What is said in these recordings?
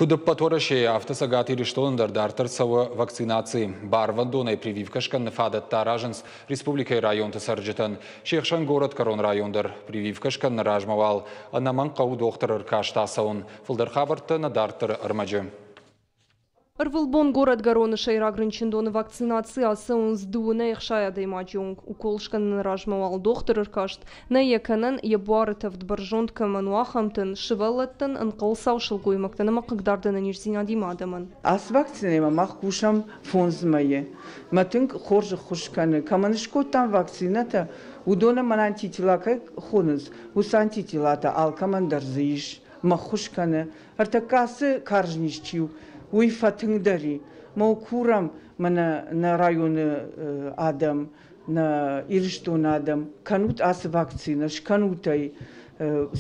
Куыд ӕппӕт Уӕрӕсейы, афтӕ Цӕгат Ирыстоны дӕр дарддӕр цӕуы вакцинаци. Барвӕндонӕй прививкӕ скӕныны фадӕттӕ аразынц республикӕйы районты цӕрджытӕн. Се хсӕн горӕтгӕрон район дӕр. Прививкӕ скӕныны размӕ уал ӕнӕмӕнг хъӕуы дохтыры ӕркаст ацӕуын. Фылдӕр хабӕрттӕ нӕ дарддӕры ӕрмӕджы. Ӕрвылбон горӕтгӕроны сӕйраг рынчындоны вакцинаци ацӕуынц дыууынӕй 60 адӕймаджы онг. Укол скӕныны размӕ уал дохтыр ӕркаст, нӕ йӕ кӕнӕн, йӕ буары тӕвд бӕрзонд кӕмӕн у, ахӕмтӕн, сывӕллӕттӕн, ӕнхъӕлцау сылгоймӕгтӕн ӕмӕ хъыгдард ӕнӕниздзинадимӕ адӕмӕн. Ацы вакцинӕимӕ мах кусӕм 5 мӕйы. Мӕ тынг хорз ӕххуыс кӕны. Кӕмӕн скодтам вакцинӕтӕ, уыдонӕн мӕн антитела кӕй хонынц, уыцы антителатӕ алкӕмӕн дӕр дзы ис. Мӕ ххуыс кӕны. Ӕртӕккӕ ацы карз низ чи у, уый фӕтынгдӕр и. Мӕ курӕм мӕнӕ нӕ районы адӕм, нӕ Ирыстоны адӕм, кӕнут ацы вакцинӕ, скӕнут ӕй,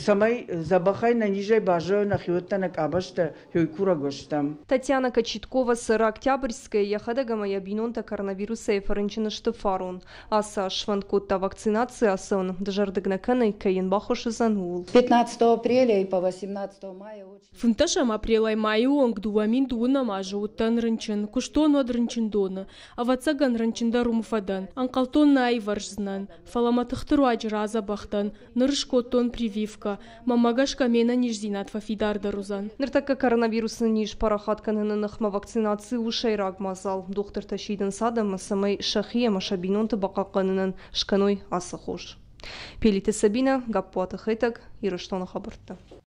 цӕмӕй дзӕбӕхӕй нӕ низӕй баззайой нӕхиуӕттӕ, нӕ къабӕзтӕ, хёй курӕг стӕм. Татьяна Кочеткова цӕры Октябрьскӕйы, йӕхӕдӕг ӕмӕ йӕ бинонтӕ коронавирусӕй фӕрынчын сты фарон. Ацы аз сфӕнд кодта вакцинаци ацӕуын, дызӕрдыг нӕ кӕны, кӕй йын баххуыс уыдзӕн, ууыл. 15 апреля и по 18 мая Фынддӕсӕм апрелӕй майы онг 2020 азы уыдтӕн рынчын, куыстон уӕд рынчындоны. Ӕвӕццӕгӕн, рынчын дӕр уым фӕдӕн. Ӕнхъӕлдтон нӕ аивӕрздзынӕн, фӕлӕ мӕ тыхты руаджы радзӕбӕх дӕн. Ныр скодтон прививкӕ. Мӕнмӕ гӕсгӕ ме нӕниздзинад фӕфидардӕр уыдзӕн. Ныртӕккӕ коронавирусы низ парахат кӕныны ныхмӕ вакцинаци у сӕйраг мадзал. Дохтыртӕ сидынц адӕммӕ, цӕмӕй сӕхи ӕмӕ сӕ бинонты бахъахъхъӕнынӕн скӕной ацы хос. Пелиты Сабинӕ, Гаппуаты Хетӕг, Ирыстоны хабӕрттӕ.